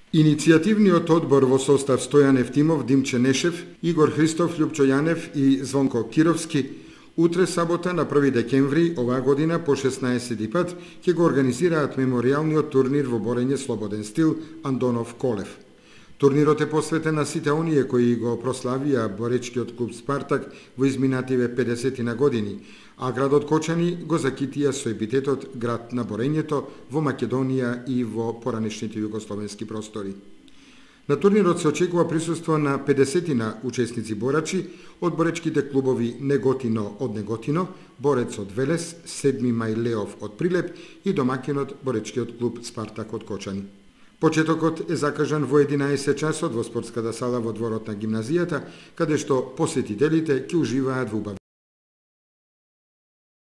Иницијативниот одбор во состав Стојан Евтимов, Димче Нешев, Игор Христов, Љупчо Јанев и Звонко Кировски утре сабота на 1 декември оваа година по 16 пат ќе го организираат меморијалниот турнир во борење слободен стил Андонов Колев. Турнирот е посветен на сите оние кои го прославија боречкиот клуб Спартак во изминативе 50 години, а градот Кочани го закитија со епитетот град на борењето во Македонија и во поранешните југословенски простори. На турнирот се очекува присуство на 50 учесници борачи од боречките клубови Неготино од Неготино, Борец од Велес, 7 мај Леов од Прилеп и домакинот боречкиот клуб Спартак од Кочани. Почетокот е закажан во 11 часот во спортската сала во дворот на гимназијата, каде што посетителите ќе уживаат во убави